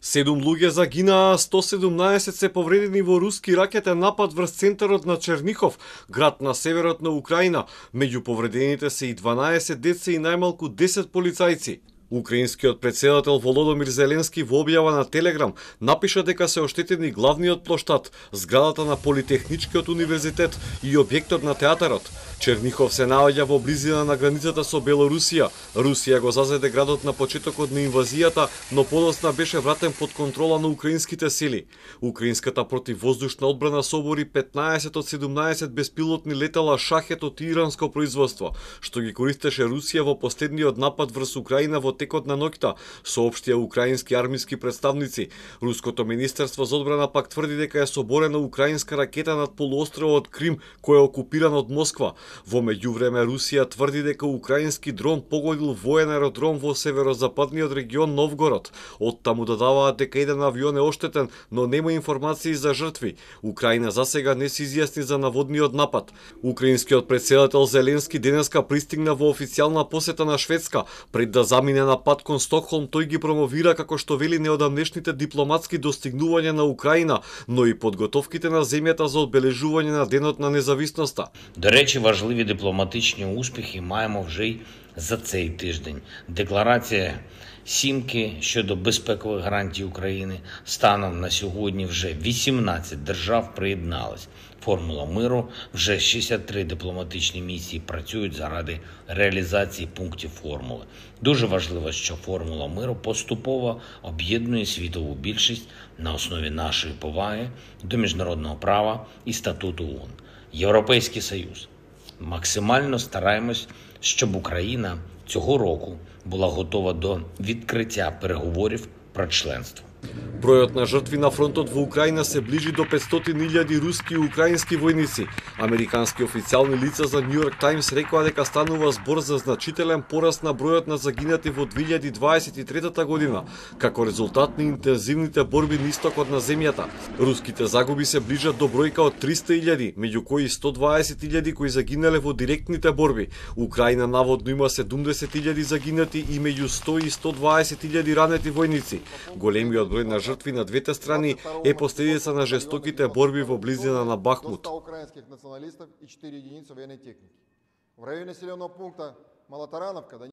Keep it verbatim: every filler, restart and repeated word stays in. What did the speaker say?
Седум луѓе загинаа, сто седумнаесет се повредени во руски ракетен напад врз центарот на Чернихов, град на северот на Украина. Меѓу повредените се и дванаесет деца и најмалку десет полицајци. Украинскиот претседател Володомир Зеленски во објава на Телеграм напиша дека се оштетени главниот плоштад, зградата на Политехничкиот универзитет и објектот на театарот. Чернихов се наоѓа во близина на границата со Белорусија. Русија го зазеде градот на почетокот на инвазијата, но подоцна беше вратен под контрола на украинските сили. Украинската противвоздушна одбрана собори петнаесет од седумнаесет беспилотни летала шахет од иранско производство, што ги користеше Русија во последниот напад врз Украина во текот на ноќта, соопштија украински армиски представници. Руското министерство за одбрана пак тврди дека е соборена украинска ракета над полуостровот Крим, кој е окупиран од Москва. Во меѓувреме Русија тврди дека украински дрон погодил воен аеродром во северозападниот регион Новгород. Оттаму додаваат дека еден авион е оштетен, но нема информации за жртви. Украина засега не се изјасни за наводниот напад. Украинскиот претседател Зеленски денеска пристигна во официјална посета на Шведска. Пред да замине на пат кон Стокхолм, тој ги промовира како што вели неодамнешните дипломатски достигнувања на Украина, но и подготовките на земјата за одбележување на денот на независноста. До речі, важливі дипломатичні успіхи маємо вже й за цей тиждень. Декларація Сімки щодо безпекових гарантій України. Станом на сьогодні вже вісімнадцять держав приєднались. Формула миру, вже шістдесят три дипломатичні місії працюють заради реалізації пунктів формули. Дуже важливо, що формула миру поступово об'єднує світову більшість на основі нашої поваги до міжнародного права і статуту ООН. Європейський Союз. Максимально стараємось, щоб Україна цього року була готова до відкриття переговорів про членство. Бројот на жртви на фронтот во Украина се ближи до петстотини илјади руски и украински војници. Американски официјални лица за Нью Йорк Таймс рекоа дека станува збор за значителен пораст на бројот на загинати во две илјади дваесет и трета година, како резултат на интензивните борби на истокот на земјата. Руските загуби се ближат до бројка од триста илјади, меѓу кои сто дваесет илјади кои загинале во директните борби. Украина наводно има седумдесет илјади загинати и меѓу сто и сто дваесет илјади ранети војници. Големиот број на жртви на двете страни е последица на жестоките борби во близина на Бахмут.